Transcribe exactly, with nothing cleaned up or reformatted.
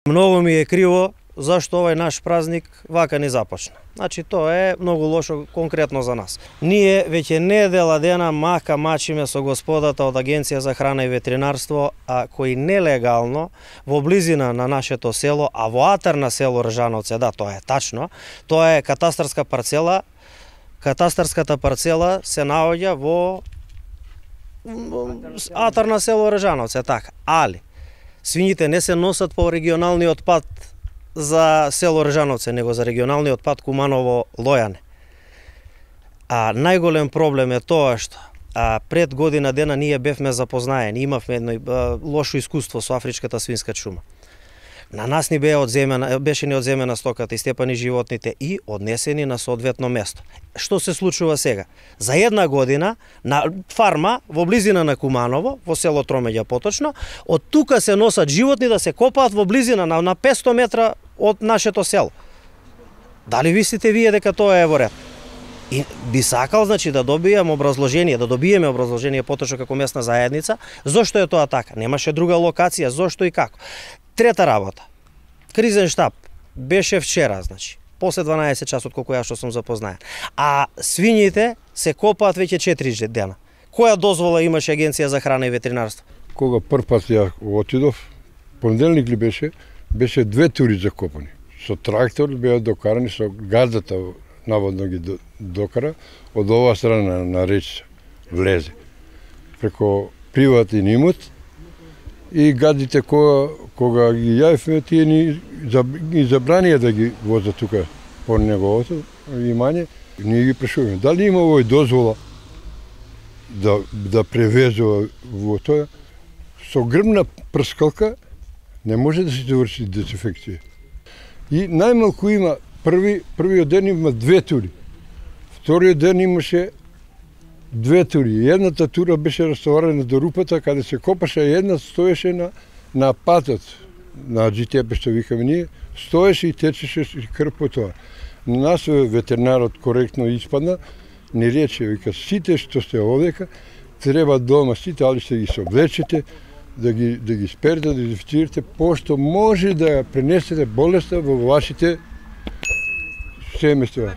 Многу ми е криво зашто овај наш празник вака не започна. Значи тоа е многу лошо конкретно за нас. Ние веќе недела дена мака мачиме со господата од Агенција за храна и ветеринарство, а кои нелегално во близина на нашето село, а во атар на село Ржановци, да, тоа е тачно, тоа е катастарска парцела. Катастарската парцела се наоѓа во атар на село Ржановци, така. Али свињите не се носат по регионалниот пат за село Ржановци, него за регионалниот пат Куманово-Лојане. А најголем проблем е тоа што а, пред година дена ние бевме запознаени, имавме едно а, лошо искуство со афричката свинска чума. На нас ни бе одземена, беше ни одземена стоката и степани животните и однесени на соодветно место. Што се случува сега? За една година на фарма во близина на Куманово, во село Тромеѓа поточно, од тука се носат животни да се копаат во близина на, на петсто метра од нашето село. Дали мислите вие дека тоа е во ред? И би сакал, значи, да добијам образложение, да добиеме образложение поточно како местна заедница, зошто е тоа така? Немаше друга локација, зошто и како? Трета работа. Кризен штаб беше вчера, значи, после дванаесет часот колку ја што сум запознаен. А свињите се копаат веќе четири дена. Која дозвола имаше Агенција за храна и ветеринарство? Кога прв пат ја отидов, понеделник ли беше, беше две тури за копани. Со трактор беа докарани, со газдата наводно ги докара, од оваа страна на речица влезе. Преко приватен имот, и гадите кога, кога ги јавивме, тие ни, ни забранија да ги возат тука по неговото имање. Ние ги прашуваме, дали има овој дозвола да, да превезува во тоа? Со грмна прскалка не може да се заврши дезинфекција. И најмалку има, први, првиот ден има две тури, вториот ден имаше две тури. Едната тура беше растоварена до рупата, каде се копаше, една стоеше на, на патот, на джи те пе, што викаме ние, стоеше и течеше крв по тоа. На нас ветеринарот коректно испадна, ни рече, вика, сите што сте овдека, треба дома, сите, али ще ги се облечете, да ги, да ги сперете, да ги дезинфицирате, пошто може да пренесете болеста во вашите семејства.